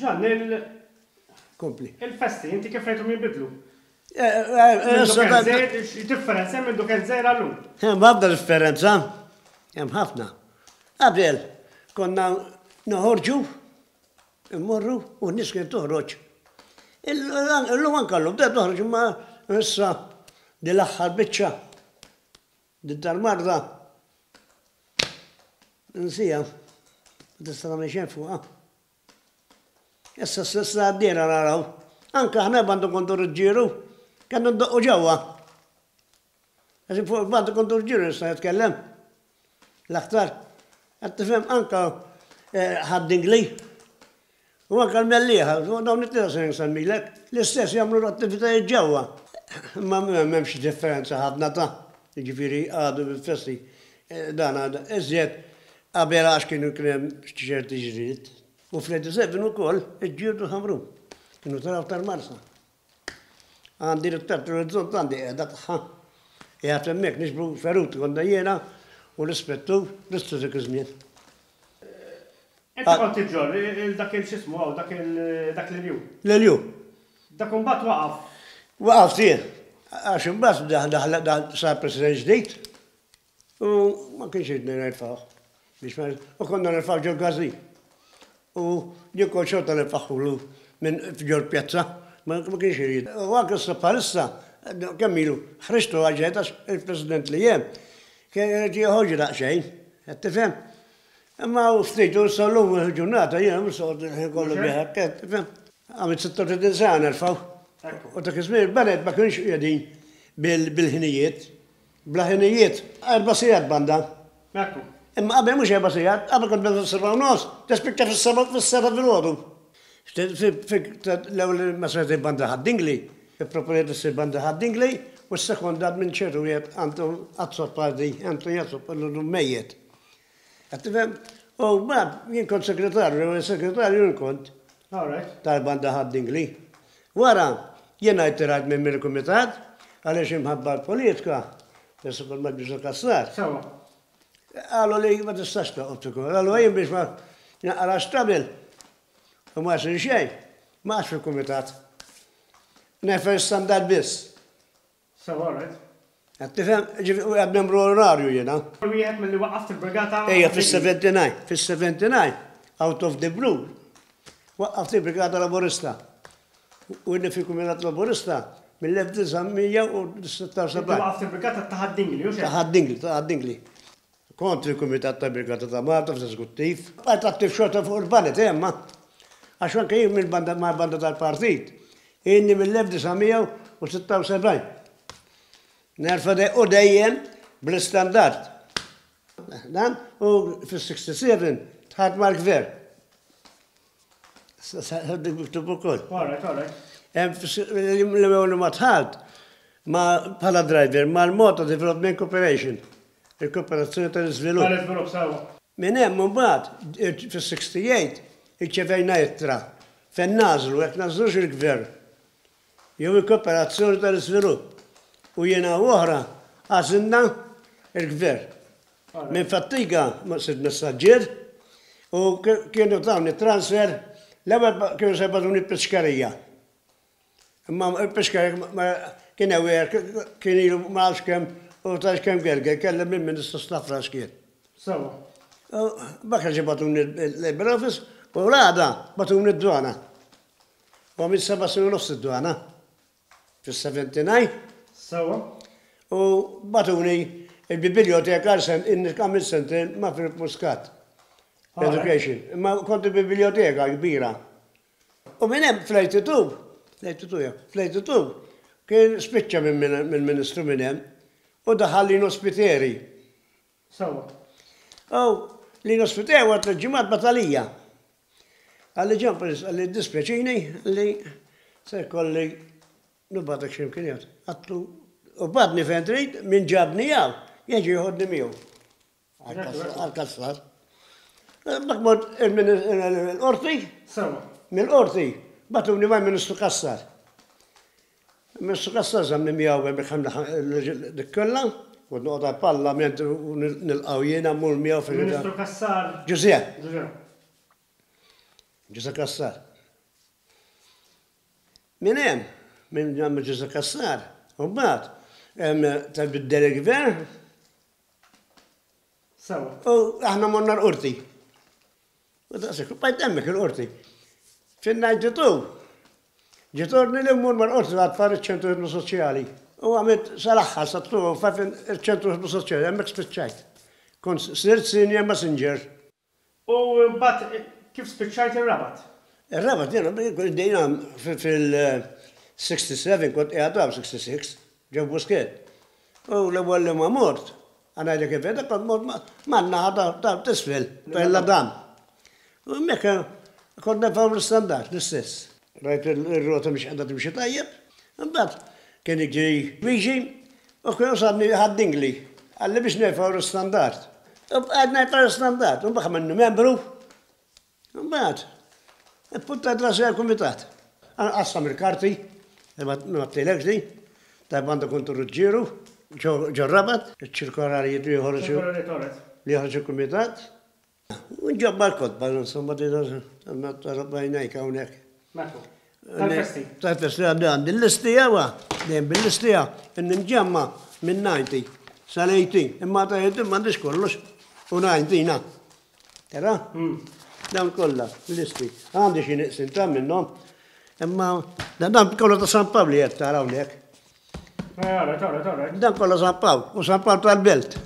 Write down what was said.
Ġann, il. Kompli. Il-festi, inti kif rajthom jinbidlu? X'differenza hemm minn kien żgħir għal-lum? Hemm ħafna differenza. Hemm ħafna. Qabel konna noħorġu, immorru u n-nies kien toħroġ. Illum anke llum bdew toħroġ imma issa din l-aħħar biċċa din tal-marda nsija ma tista' tagħmel xejn fuqha. Issa s-sissa għaddiena naraw. Anke aħna bandu kontu rġġieru, kellna ndoqqu ġewwa. Għax fuq il-bandu kontu rġġieru nista' nitkellem. L-aktar. Qed tifhem anke eh, ħad-dingli. U anke l-mellieħa, dawn it-tlieta se nsemmilek, l-istess jagħmlu l-attivitajiet ġewwa. Ma m'hemmx differenza ħafna ta' jiġifieri għadu bil-festi eh, dan għadha iżjed Qabel għax kienu kien hemm ċerti ġlied. U fl-87 ukoll iġġieldu l-Ħamrun. Kienu telgħu tal-Marsa. Għandi ritratt l-orizzont għandi qiegħda tagħha. Qiegħed hemmhekk niġbru feruti konna jiena u l-ispettur Risto dak iż-żmien. Inti kont iġġorr il dak il x'ismu hawn dak il dak l-iljun. L-iljun. Dak imbagħad waqaf. Waqaf jien. Għax imbagħad daħal sar president ġdid. U ma kienx iridni nerfgħu. Biex ma u konna nerfgħu ġol każin. U jien kont xorta nerfagħhulu minn ġol pjazza, ma kienx irid. U anke issa bħalissa, kemm ilu, ħriġtu għal ġejt għax il-President li hemm kien irid jeħodġi daqsxejn, qed tifhem? Imma u ftit u issa llum il-ġurnata jiena mhux se noqgħod il-ħin kollu bih hekk, qed tifhem? Għamilt 36 sena nerfgħu. U dak iż-żmien il-baned ma kinux qiegħdin bil-ħinijiet. Bla ħinijiet, erba' sigħat banda. Ekku. Imma qabel mhux erba' sigħat, qabel kont tibda fis-sebgħa u nofs, tispiċċa fis-sebgħa fis-sebgħa filgħodu. L-ewwel ma saret il-banda Ħad-Dingli, ipproponiet issir banda Ħad-Dingli u ssekondat minn ċertu wieħed Anton Azzopardi, Anthony Azzopardi llum mejjet. Qed tifhem? U mbagħad jien kont segretarju, l-ewwel segretarju jien kont. Tal-banda Ħad-Dingli. Wara, jiena rtirajt minn mill-kumitat għaliex imħabba l-politika, peress li kont ma' Ġużè Cassar. Sewwa. Qalu li ma tistax toqgħod fil-kumitat. Allura jien biex ma naqrax trouble u ma jsir xejn, ma qgħadtx fil-kumitat. Nefer standard biss. Sewa, all right. Qed tifhem? Ġifieri u qiegħed membru onorarju jiena. Wieħed milli waqqaft il-Brigata. Ejja, fis-79, fis-79, out of the blue, waqqaft il-Brigata Laburista. U inni fil-Kumitat Laburista mill-1976. Inti waqqaft il-Brigata ta' Ħad-Dingli, hux hekk? Ta' Ħad-Dingli, ta' Ħad-Dingli. Kont fil-Kumitat tal-Brigata ta' Malta fl-Eżekuttiv. Bqajt attiv xorta fuq il-baned, eh, imma. Għax anke jien mill-banda mal-banda tal-partit. Ilni mill-1976. Nerfa' dej u dejjem bl-istandard. Dan u fis-67 dħalt mal-gvern. Dik miktub ukoll. All right, all right. L-ewwel ma dħalt ma bħala driver mal-Malta Development Corporation, il-Kooperazzjoni tal-Iżvilupp. Tal-Iżvilupp, sewwa. Minn hemm imbagħad fis-68 irċevejna ittra fejn nagħżlu jekk nagħżlux il-gvern jew il-Kooperazzjoni tal-Iżvilupp u jiena u oħra għażilna l-gvern. Minn Fattiga sirt messaġġier u kienu tawni transfer l-ewwel kienu se jibgħatuni l-Piskerija. Imma l-Piskerija kien aware kien ilu ma nafx kemm u tafx kemm gerger kellem lill-Ministru Stafrace kien. Sewwa. Bakra ġie bagħtuni l-Labour Office u l-għada bagħtuni d-dwana. U għamilt seba' snin u nofs id-dwana. Fis-79. Sewwa. U bagħtuni l-bibiljoteka għal sen għamilt sentejn ma' Philip Muscat. Education. Imma kont il-bibiljoteka kbira. U minn hemm fl-82, fl-82 ja, fl-82 kien spiċċa minn ministru minn hemm u daħal Lino Spiteri. Sewwa. U Lino Spiteri wara tliet ġimgħat bagħat għalija. Qalli Ġan Prince, qalli jiddispjaċini li se jkolli nibgħatek xi mkien ieħor. Għadtlu, u bagħatni fejn trid, min ġabni hawn, jiġi joħodni miegħu. Għal-Kassar. Dak mort il-qorti. Sewwa. Mill-qorti bagħtuni mal-Ministru Cassar. Ministru Cassar żammni miegħu hemmhekk dik kollha, kont noqgħod għall-Parlament u nilqgħu jiena mmur miegħu fil- Ministru Cassar. Ġużè. Ġużè. Ġużè Cassar. Minn hemm, minn hemm Ġużè Cassar, u mbagħad tal-biddel il-gvern. Sewa. U aħna morna l-qorti. U daqshekk, u bqajt hemmhekk il-qorti. Fin-92 ġiet ordni li mmur mal-qorti l-atfal iċ-ċentru ħidma soċjali. U għamilt sal-aħħar sa 205 iċ-ċentru ħidma soċjali, hemmhekk spiċċajt. Kont sirt senior messenger. U mbagħad kif spiċċajt ir-Rabat? Ir-Rabat jiena bdejna fil-67 kont qiegħed hawn 66 ġo Buskett. U l-ewwel li ma mort, ħa ngħidlek il-verità kont mort man-naħa ta' t'isfel, fejn l-għadam. U hemmhekk kont nerfgħu l-istandard l-istess. Rajt ir-rota mhix qiegħda timxi tajjeb. Imbagħad kien jiġi Luigi u kien wasalni Ħad-Dingli. Qalli biex nerfgħu l-istandard. U bqajt nerfa' l-istandard. U mbagħad għamilni membru. Imbagħad ippuntajt rasi għall-kumitat. Qassam il-karti, ma ngħattilekx din, tal-Banda Kontu Ruġġieru, ġor-Rabat, iċ-ċirkolarijiet li joħroġ li joħroġ il-kumitat. U nġabba l-kotba, insomma, tara b'għajnejk hawnhekk. Mekku. Tal-festi. Tal-festi għandi għandi l-listi jawa, dejjem bil-listi ja, inni nġemma minn 90 sal-18, imma ta' 18 m'għandix kollox, u 90 na. Tara? Hmm. Dawn kollha, listi. Għandi xi niqsin ta' minnhom, imma dan kollu ta' San Pawli qed tara hawnhekk. Eh, Dan kollha San Pawl, u San Pawl tal-Belt.